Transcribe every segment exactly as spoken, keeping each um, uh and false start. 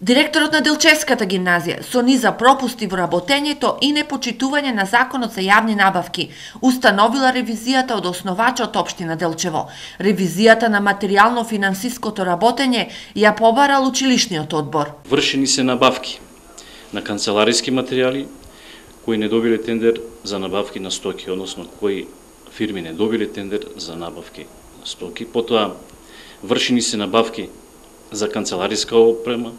Директорот на Делчевската гимназија со низа пропусти во работењето и непочитување на законот за јавни набавки установила ревизијата од основачот општина Делчево. Ревизијата на материјално-финансиското работење ја побарал училишниот одбор. Вршени се набавки на канцелариски материјали кои не добиле тендер за набавки на стоки, односно кои фирми не добиле тендер за набавки на стоки. Потоа вршени се набавки за канцелариска опрема,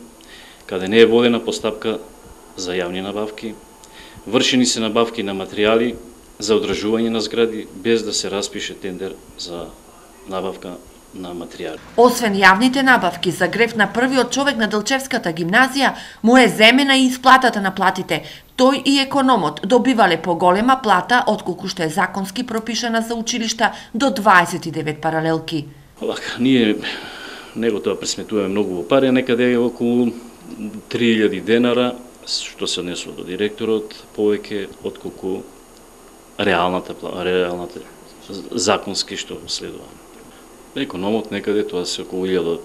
каде не е водена постапка за јавни набавки. Вршени се набавки на материјали за одржување на згради без да се распише тендер за набавка на материјали. Освен јавните набавки за грев на првиот човек на Делчевската гимназија, му е земена и исплатата на платите. Тој и економот добивале поголема плата отколку што е законски пропишана за училишта до дваесет и девет паралелки. Овака, ние него тоа пресметуваме многу во пари, некаде е околу три илјади денара, што се однесува до директорот, повеќе отколку реалната, реалната законски што следува. Економот некаде тоа се околу илјада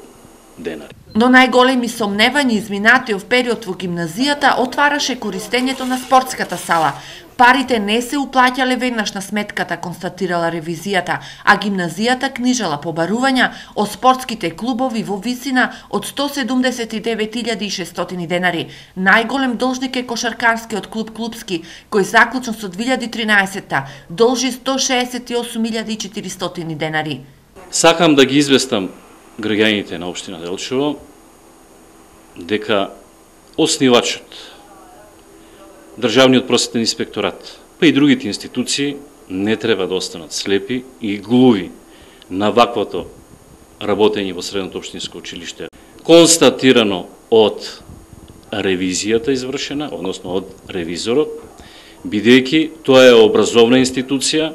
денари. Но најголеми сомневања изминатиот период во гимназијата отвараше користењето на спортската сала. Парите не се уплаќале веднаш на сметката, констатирала ревизијата, а гимназијата книжала побарувања од спортските клубови во висина од сто седумдесет и девет илјади и шестстотини денари. Најголем должник е кошаркарскиот клуб Клупски, кој заклучно со две илјади и тринаесетта должи сто шеесет и осум илјади и четиристотини денари. Сакам да ги известам граѓаните на општина Делчево дека оснивачот, Државниот просветен инспекторат, па и другите институции не треба да останат слепи и глуви на ваквото работење во средното општинско училиште. Констатирано од ревизијата извршена, односно од ревизорот, бидејќи тоа е образовна институција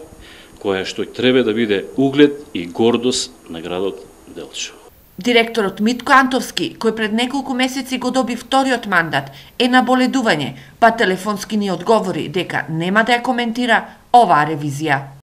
која што треба да биде углед и гордост на градот Делчево. Директорот Митко Антовски, кој пред неколку месеци го доби вториот мандат, е на боледување, па телефонски ни одговори дека нема да ја коментира оваа ревизија.